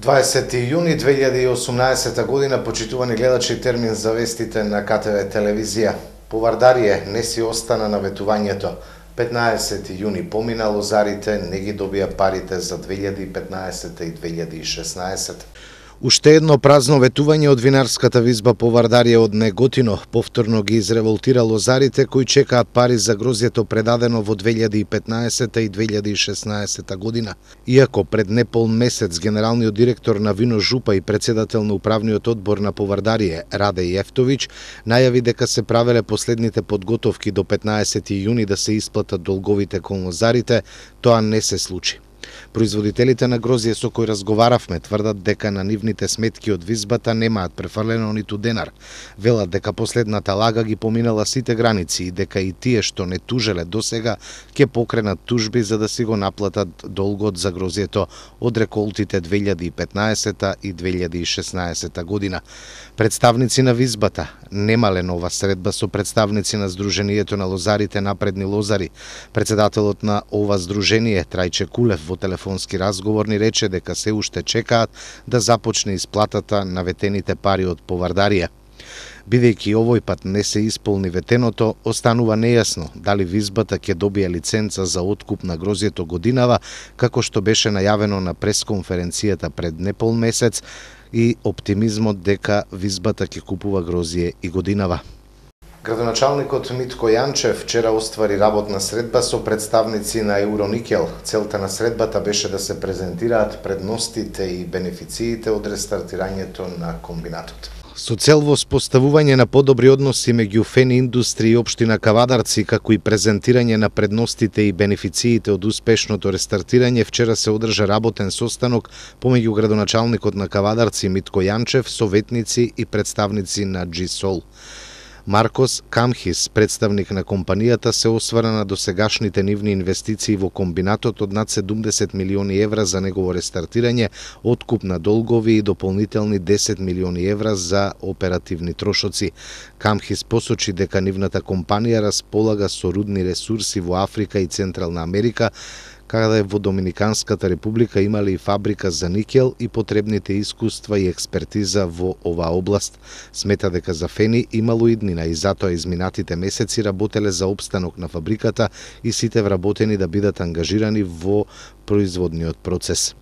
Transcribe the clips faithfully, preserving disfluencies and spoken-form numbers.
дваесети јуни две илјади и осумнаесета година, почитувани гледачи, термин за вестите на К Т В телевизија. Повардарие не си остана на ветувањето. петнаесети јуни помина, лозарите не ги добија парите за две илјади и петнаесета и две илјади и шеснаесета. Уште едно празно ветување од винарската визба Повардарие од Неготино повторно ги изреволтира лозарите кои чекаат пари за грозјето предадено во две илјади и петнаесета и две илјади и шеснаесета година. Иако пред непол месец генералниот директор на Вино Жупа и председател на управниот одбор на Повардарие Раде Јефтовиќ најави дека се правеле последните подготовки до петнаесети јуни да се исплатат долговите кон лозарите, тоа не се случи. Производителите на грозје со кои разговаравме тврдат дека на нивните сметки од визбата немаат префрлено ниту денар. Велат дека последната лага ги поминала сите граници и дека и тие што не тужеле досега ќе покренат тужби за да си го наплатат долгот за грозјето од реколтите две илјади и петнаесета и две илјади и шеснаесета година. Представници на визбата немале нова средба со представници на Сдруженијето на лозарите Напредни лозари. Председателот на ова здружение Трајче Кулев во телефонски разговор ни рече дека се уште чекаат да започне исплатата на ветените пари од Повардарие. Бидејќи овој пат не се исполни ветеното, останува нејасно дали визбата ќе добие лиценца за откуп на грозјето годинава, како што беше најавено на пресконференцијата пред непол месец, и оптимизмот дека визбата ќе купува грозје и годинава. Градоначалникот Митко Јанчев вчера оствари работна средба со представници на Евроникел. Целта на средбата беше да се презентираат предностите и бенефициите од рестартирањето на комбинатот. Со цел воспоставување на подобри односи меѓу Фени Индустри и општина Кавадарци, како и презентирање на предностите и бенефициите од успешното рестартирање, вчера се одржа работен состанок помеѓу градоначалникот на Кавадарци Митко Јанчев, советници и представници на Джисол. Маркос Камхис, представник на компанијата, се освара на досегашните нивни инвестиции во комбинатот од над седумдесет милиони евра за негово рестартирање, откуп на долгови и дополнителни десет милиони евра за оперативни трошоци. Камхис посочи дека нивната компанија располага со рудни ресурси во Африка и Централна Америка, каде во Доминиканската република имале и фабрика за никел и потребните искуства и експертиза во оваа област. Смета дека за Фени имало иднина и затоа изминатите месеци работеле за опстанок на фабриката и сите вработени да бидат ангажирани во производниот процес.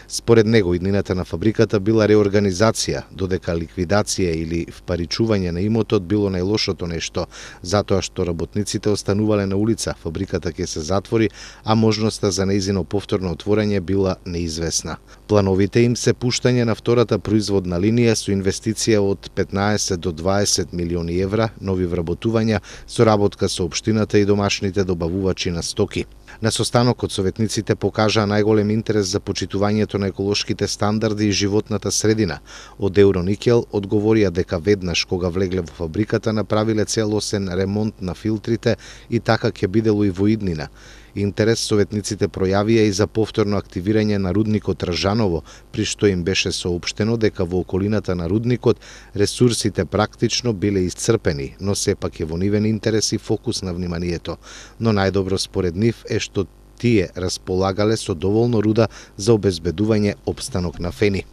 Според него, иднината на фабриката била реорганизација, додека ликвидација или впаричување на имотот било најлошото нешто, затоа што работниците останувале на улица, фабриката ќе се затвори, а можноста за нејзино повторно отворање била неизвестна. Плановите им се пуштање на втората производна линија со инвестиција од петнаесет до дваесет милиони евра, нови вработувања, соработка со општината и домашните добавувачи на стоки. На состанокот советниците покажаа најголем интерес за почитувањето на еколошките стандарди и животната средина. Од Евроникел одговорија дека веднаш кога влегле во фабриката направиле целосен ремонт на филтрите и така ќе бидело и во иднина. Интерес советниците пројавија и за повторно активирање на рудникот Ражаново, при што им беше соопштено дека во околината на рудникот ресурсите практично биле исцрпени, но сепак е во нивен интерес и фокус на вниманието. Но најдобро според нив е што тие располагале со доволно руда за обезбедување опстанок на Фени.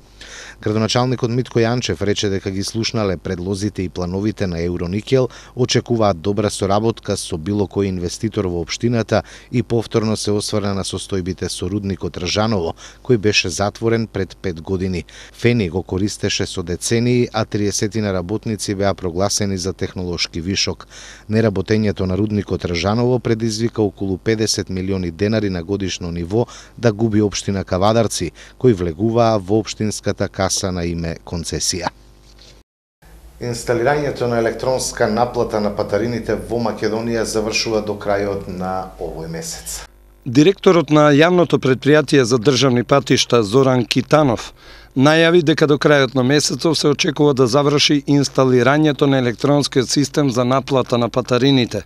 Градоначалникот Митко Јанчев рече дека ги слушнале предлозите и плановите на Евроникел, очекуваат добра соработка со било кој инвеститор во општината и повторно се осврна на состојбите со рудникот Ражаново, кој беше затворен пред пет години. Фени го користеше со децении, а триесетина работници беа прогласени за технолошки вишок. Неработењето на рудникот Ражаново предизвика околу педесет милиони денари на годишно ниво да губи општина Кавадарци, кои влегуваа во општинската каса на име концесија. Инсталирањето на електронска наплата на патарините во Македонија завршува до крајот на овој месец. Директорот на јавното претпријатие за државни патишта Зоран Китанов најави дека до крајот на месецов се очекува да заврши инсталирањето на електронскиот систем за наплата на патарините.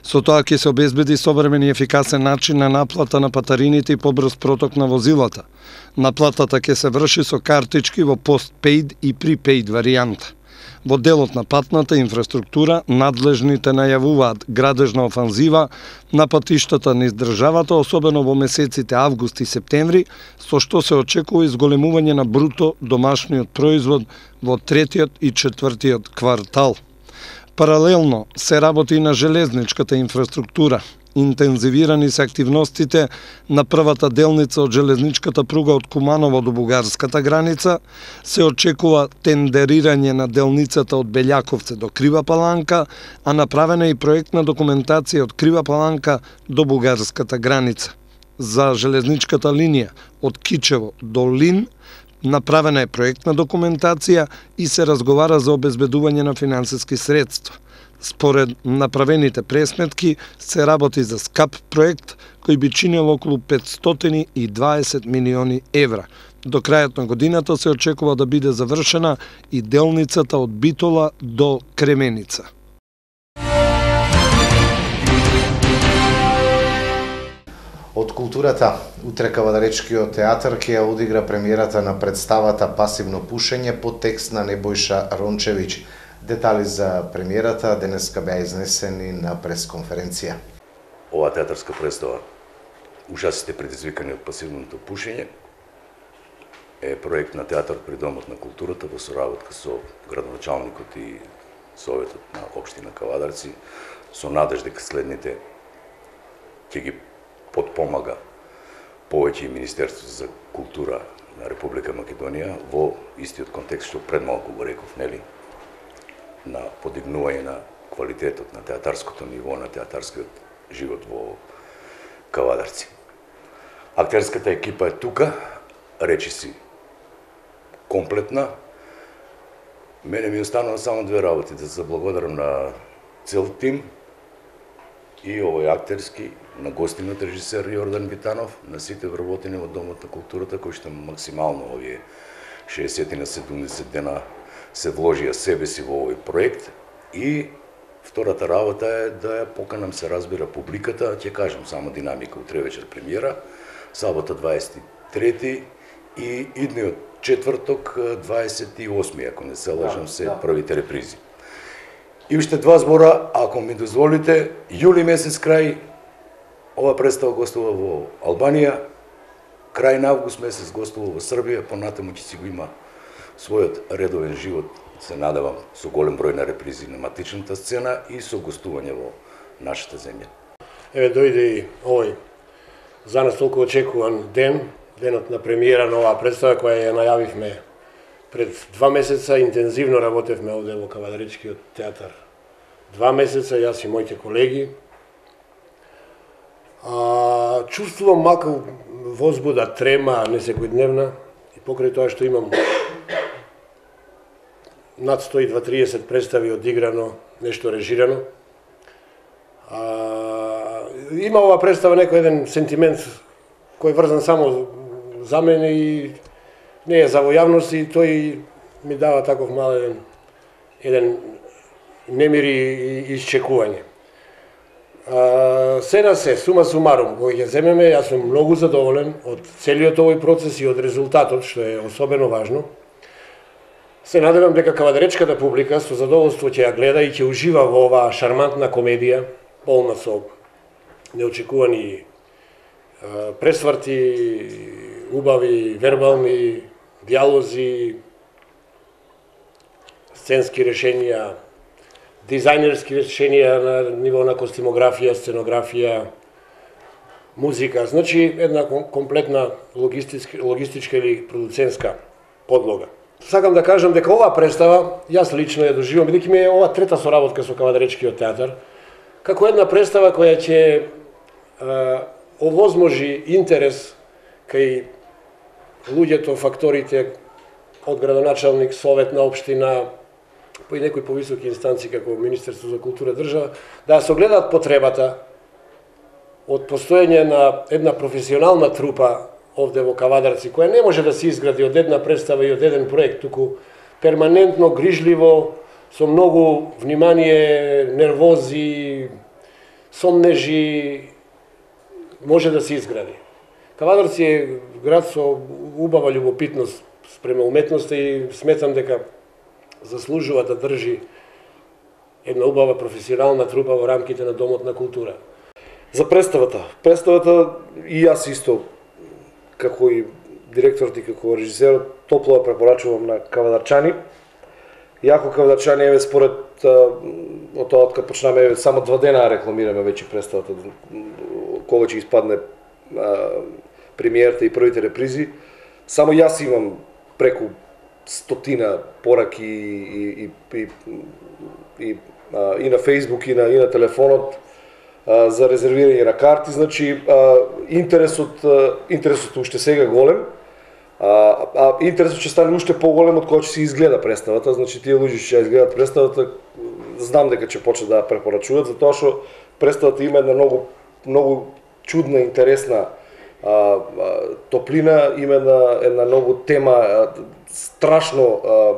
Со тоа ќе се обезбеди современ и ефикасен начин на наплата на патарините и побрз проток на возилата. Наплатата ќе се врши со картички во постпейд и припейд варијанта. Во делот на патната инфраструктура, надлежните најавуваат градежна офанзива на патиштата низ државата, особено во месеците август и септември, со што се очекува изголемување на бруто домашниот производ во третиот и четвртиот квартал. Паралелно се работи и на железничката инфраструктура. Интензивирани се активностите на првата делница од железничката пруга од Куманово до бугарската граница, се очекува тендерирање на делницата од Белјаковце до Крива Паланка, а направена и проектна документација од Крива Паланка до бугарската граница. За железничката линија од Кичево до Лин направена е проектна документација и се разговара за обезбедување на финансиски средства. Според направените пресметки, се работи за скап проект кој би чинел околу петстотини и дваесет милиони евра. До крајот на годината се очекува да биде завршена и делницата од Битола до Кременица. Од културата, утре Кавадаречкиот театар ќе ја одигра премиерата на представата Пасивно пушење по текст на Небојша Рончевиќ. Детали за премиерата денеска беа изнесени на пресконференција. Ова театарска представа "Ужасите предизвикани од пасивното пушење" е проект на театар при Домот на културата во соработка со градоначалникот и Советот на општина Кавадарци, со надеж дека следните ќе ги подпомага повеќе и Министерството за култура на Република Македонија во истиот контекст што пред малку го реков, нели? На подигнување на квалитетот на театарското ниво, на театарскиот живот во Кавадарци. Актерската екипа е тука, речиси комплетна. Мене ми останува само две работи, да се благодарам на цел тим и овој актерски, на гостинот режисер Јордан Витанов, на сите вработени во Домот на културата, кои што максимално овие шеесет на седумдесет дена се вложија себе си во овој проект. И втората работа е да ја поканам, се разбира, публиката, ќе кажам само динамика, утре вечер премиера, сабота дваесет и трети и идниот четврток дваесет и осми, ако не се лажам, се првите репризи. И уште два збора, ако ми дозволите, јули месец крај ова представа гостува во Албанија, крај на август месец гостува во Србија, понатаму ќе си го има својот редовен живот, се надевам, со голем број на репризи на матичната сцена и со гостување во нашата земја. Еве дојде и овој за нас толку очекуван ден, денот на премиера на оваа представа која ја најавивме пред два месеца, интензивно работевме овде во Кавадаречкиот театар. Два месеца, јас и моите колеги. А, чувствувам малку возбуда, трема, несекојдневна, и покрај тоа што имам над сто и триесет представи одиграно, нешто режирано. А, има ова представа некој еден сентимент кој е врзан само за мене и не е за во јавност, и тој ми дава таков мал еден, еден немир и исчекување. А, се на се, сума сумарум, кој ќе земеме, јас сум многу задоволен од целиот овој процес и од резултатот, што е особено важно. Се надевам дека кавадаречката публика со задоволство ќе ја гледа и ќе ужива во оваа шармантна комедија, полна со неочекувани а, пресврти, убави, вербални диалози, сценски решенија, дизајнерски решенија на ниво на костимографија, сценографија, музика, значи една комплетна логистичка, логистичка или продуцентска подлога. Сакам да кажам дека оваа представа, јас лично ја доживам, бидејќи ми е ова трета соработка со Кавадаречкиот театар, како една представа која ќе а, овозможи интерес кај луѓето, факторите од градоначалник, совет на општина, по и некои повисоки инстанции како Министерство за култура држава, да се огледаат потребата од постоење на една професионална трупа овде во Кавадарци, која не може да се изгради од една представа и од еден проект, туку перманентно, грижливо, со многу внимание, нервози, сомнежи, може да се изгради. Кавадарци е град со убава љубопитност спрема уметноста и сметам дека заслужува да држи една убава професионална трупа во рамките на Домот на култура. За представата, представата и јас исто како и директорот и како режисерот топло препорачувам на кавадарчани. Јако кавадарчани еве според од тоа откако почнаме еве само два дена рекламираме веќе представата кога ќе испадне премиерата и првите репризи. Само јас имам преку стотина пораки и, и, и, и, а, и на Facebook и на, и на телефонот а, за резервирање на карти. Значи, а, интересот, а, интересот уште сега голем, а, а интересот ќе стане уште поголем од кога ќе се изгледа представата. Значи, тие луѓе ќе изгледат представата, знам дека ќе почнат да препорачуваат, затоа што представата има една многу, многу чудна, интересна а, а, топлина, има една, една многу тема а, страшно а,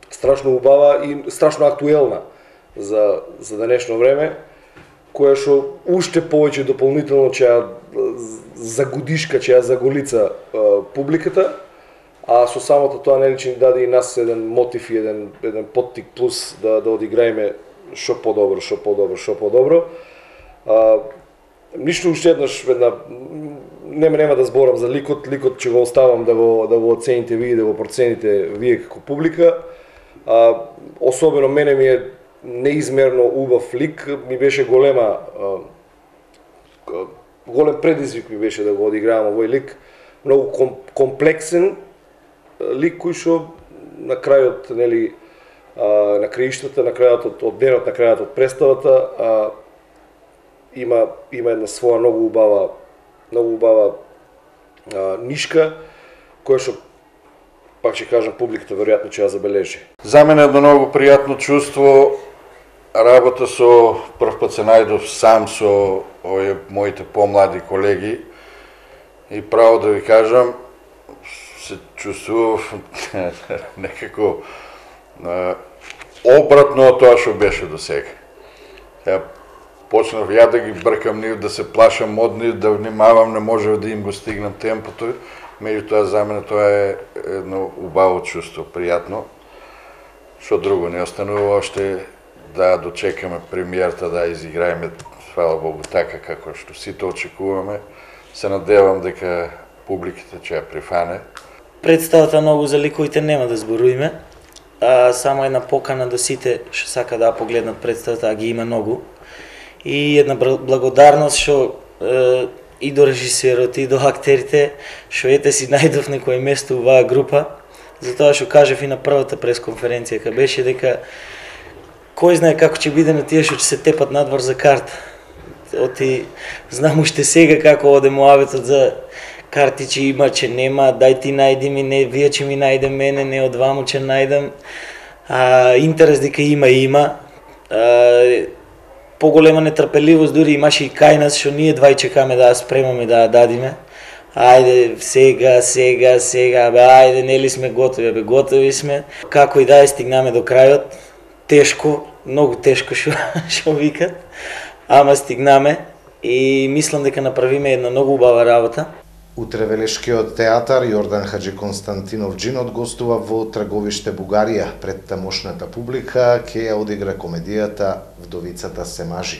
страшно убава и страшно актуелна за за денешно време, која што уште повеќе дополнително ќе ја загудишка, ќе ја заголица а, публиката, а со самото тоа нели ќе ни даде и нас еден мотив и еден еден поттик плюс да да одиграеме што подобро, што подобро, што подобро. А, Ништо уште еднаш една нема нема да зборам за ликот, ликот ќе го оставам да го да го оцените вие, да го процените вие како публика. А, особено мене ми е неизмерно убав лик, ми беше голема а, голем предизвик ми беше да го одигравам овој лик, многу ком, комплексен лик кој што на крајот нели а, на краиштата, на крајот од, од денот, на крајот од представата а, има има една своја многу убава многу убава а, нишка која што пак ќе кажам публиката веројатно ќе ја забележи. За мене е едно многу пријатно чувство работа со прв пат се најдов сам со овие моите помлади колеги и право да ви кажам се чувствував некако а, обратно од тоа што беше до сега. Ја почнав ја да ги бркам нив, да се плашам од нив, да внимавам, не можев да им го стигнам темпото. Меѓутоа за мене тоа е едно убаво чувство, пријатно. Што друго не останува още да дочекаме премиерата, да изиграеме, фала Богу, така како што сите очекуваме. Се надевам дека публиката ќе ја прифане. Представата многу за ликовите нема да зборуваме. А, само една покана до сите што сака да погледнат представата, а ги има многу. И една благодарност што е, и до режисерот и до актерите што ете си најдов некој место оваа група, затоа што кажав и на првата пресконференција кога беше дека кој знае како ќе биде на тие што ќе се тепат надвор за карта. Оти знам уште сега како оде муабетот за карти че има, че нема, дај ти најди ми, не вие ќе ми најде мене, не од ваму ќе најдам. А, интерес дека има има. А, поголема нетрпеливост дури имаше и кај нас што ние двај чекаме да ја спремаме да ја дадиме. Ајде сега, сега, сега, бе, ајде нели сме готови, бе, готови сме. Како и да ја стигнаме до крајот, тешко, многу тешко што што викат, ама стигнаме и мислам дека направиме една многу убава работа. Утре Велешкиот театар Јордан Хаџи Константинов Джинот гостува во Траговиште, Бугарија. Пред тамошната публика ќе ја одигра комедијата Вдовицата се мажи.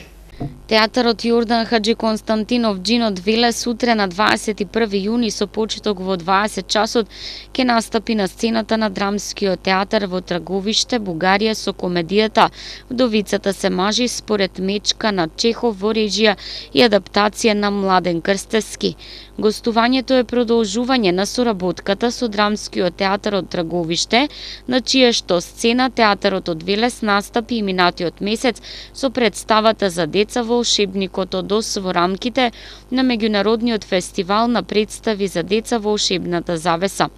Театарот Јордан Хаџи Константинов Джинот веле сутре на дваесет и први јуни со почеток во дваесет часот ќе настапи на сцената на Драмскиот театар во Траговиште, Бугарија со комедијата Вдовицата се мажи според Мечка на Чехов во режија и адаптација на Младен Крстевски. Гостувањето е продолжување на соработката со Драмскиот театар од Траговиште, на чија што сцена театарот од Велес настапи и минатиот месец со представата за деца Волшебникот од Оз во рамките на меѓународниот фестивал на представи за деца Волшебната завеса.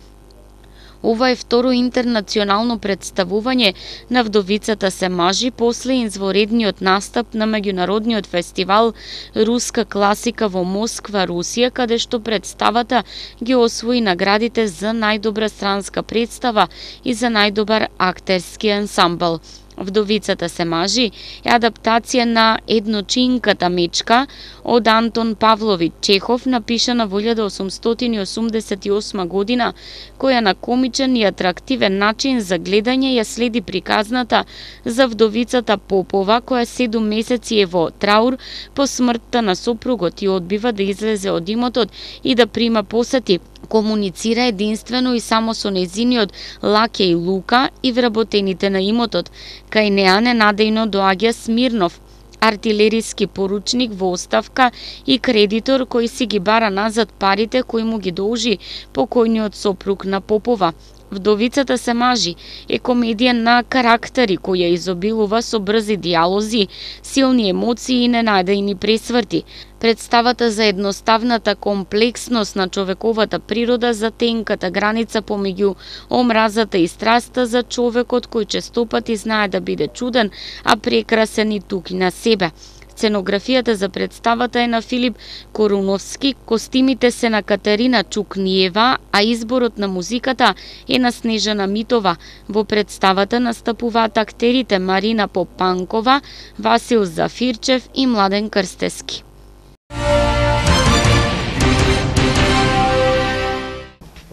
Ова е второ интернационално представување на Вдовицата се мажи после изворедниот настап на меѓународниот фестивал Руска класика во Москва, Русија, каде што представата ги освои наградите за најдобра странска представа и за најдобар актерски ансамбл. Вдовицата се мажи е адаптација на Едночинката мечка од Антон Павлович Чехов, напишана во илјада осумстотини осумдесет и осма година, која на комичен и атрактивен начин за гледање ја следи приказната за вдовицата Попова, која седум месеци е во траур по смртта на сопругот и одбива да излезе од имотот и да прима посети. Комуницира единствено и само со нејзиниот лакеј Лука и вработените на имотот. Кај неа ненадејно доаѓа Смирнов, артилериски поручник во оставка и кредитор кој си ги бара назад парите кои му ги должи покојниот сопруг на Попова. Вдовицата се мажи е комедија на карактери која изобилува со брзи диалози, силни емоции и ненајдејни пресврти. Представата за едноставната комплексност на човековата природа, за тенката граница помеѓу омразата и страста за човекот кој честопати знае да биде чуден, а прекрасен и тук и на себе. Сценографијата за представата е на Филип Коруновски, костимите се на Катерина Чукниева, а изборот на музиката е на Снежана Митова. Во представата настапуваат актерите Марина Попанкова, Васил Зафирчев и Младен Крстески.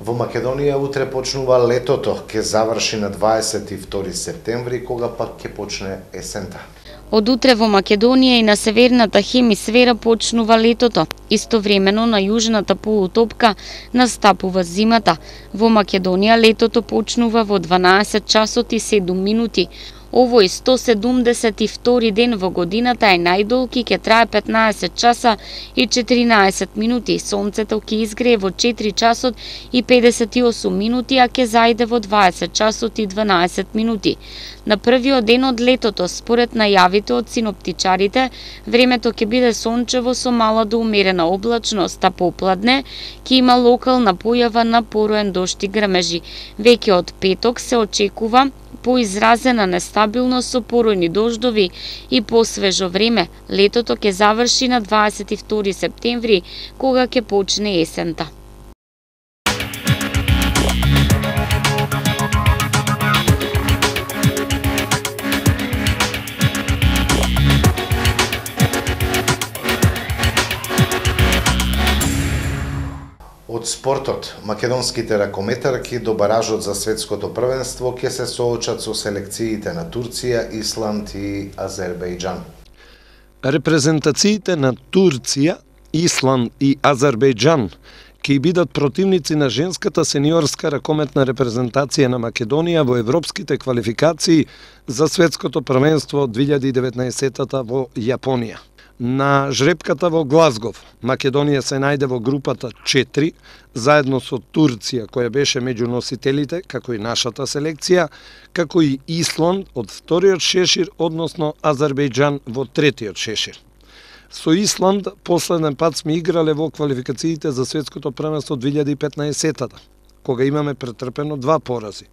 Во Македонија утре почнува летото, ќе заврши на дваесет и втори септември, кога пак ќе почне есента. Од утре во Македонија и на северната хемисфера почнува летото. Истовремено на јужната полутопка настапува зимата. Во Македонија летото почнува во дванаесет часот и седум минути. Овој сто седумдесет и втори ден во годината е најдолг и ќе трае петнаесет часа и четиринаесет минути. Сонцето ќе изгрее во четири часот и педесет и осум минути, а ќе зајде во дваесет часот и дванаесет минути. На првиот ден од летото, според најавите од синоптичарите, времето ќе биде сончево со мала до умерена облачност, а попладне ќе има локална појава на пороен дожд и грмежи. Веќе од петок се очекува поизразена нестабилност со поројни дождови и посвежо време. Летото ќе заврши на дваесет и втори септември, кога ќе почне есента. Од спортот, македонските ракометарки до баражот за светското првенство ќе се соочат со селекциите на Турција, Исланд и Азербејџан. Репрезентациите на Турција, Исланд и Азербејџан ќе бидат противници на женската сениорска ракометна репрезентација на Македонија во европските квалификации за светското првенство две илјади и деветнаесета во Јапонија. На жрепката во Глазгов, Македонија се најде во групата четири, заедно со Турција, која беше меѓу носителите, како и нашата селекција, како и Исланд од вториот шешир, односно Азербејџан во третиот шешир. Со Исланд последен пат сме играле во квалификациите за светското првенство две илјади и петнаесета, кога имаме претрпено два порази.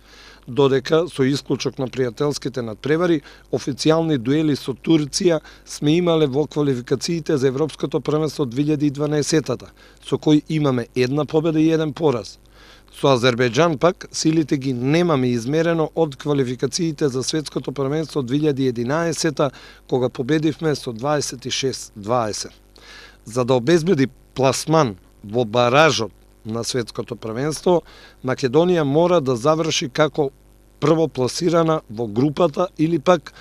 Додека, со исклучок на пријателските надпревари, официјални дуели со Турција сме имале во квалификациите за Европското првенство две илјади и дванаесета, со кој имаме една победа и еден пораз. Со Азербејџан пак силите ги немаме измерено од квалификациите за Светското првенство две илјади и единаесета, кога победивме со дваесет и шест дваесет. За да обезбеди пласман во баражот на Светското првенство, Македонија мора да заврши како првопласирана во групата или пак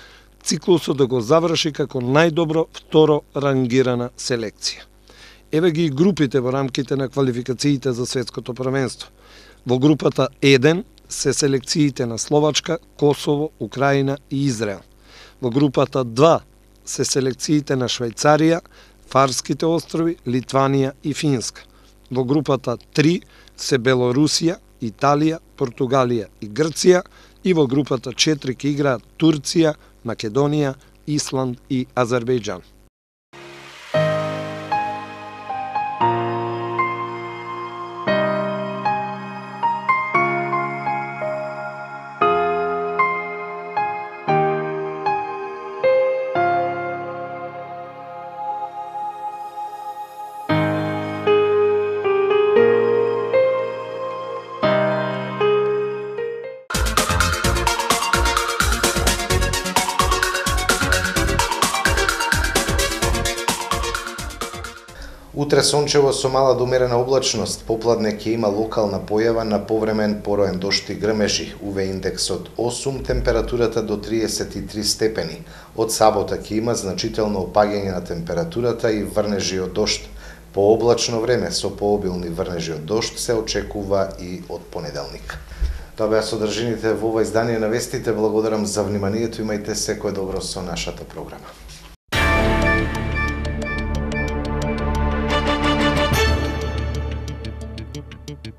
циклусот да го заврши како најдобро второ рангирана селекција. Еве ги групите во рамките на квалификациите за Светското првенство. Во групата еден се селекциите на Словачка, Косово, Украина и Израел. Во групата два се селекциите на Швајцарија, Фарските острови, Литванија и Финска. Во групата три се Белорусија, Италија, Португалија и Грција, и во групата четири ќе играат Турција, Македонија, Исланд и Азербејџан. Утре сончево со мала до умерена облачност, попладне ќе има локална појава на повремен пороен дожд и грмежи, У В индекс од осум, температурата до триесет и три степени. Од сабота ќе има значително опаѓање на температурата и врнежи од дожд. По облачно време со пообилни врнежи од дожд се очекува и од понеделник. Тоа беа содржините во ова издание на вестите. Благодарам за вниманието, имајте секое добро со нашата програма.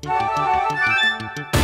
Thank you.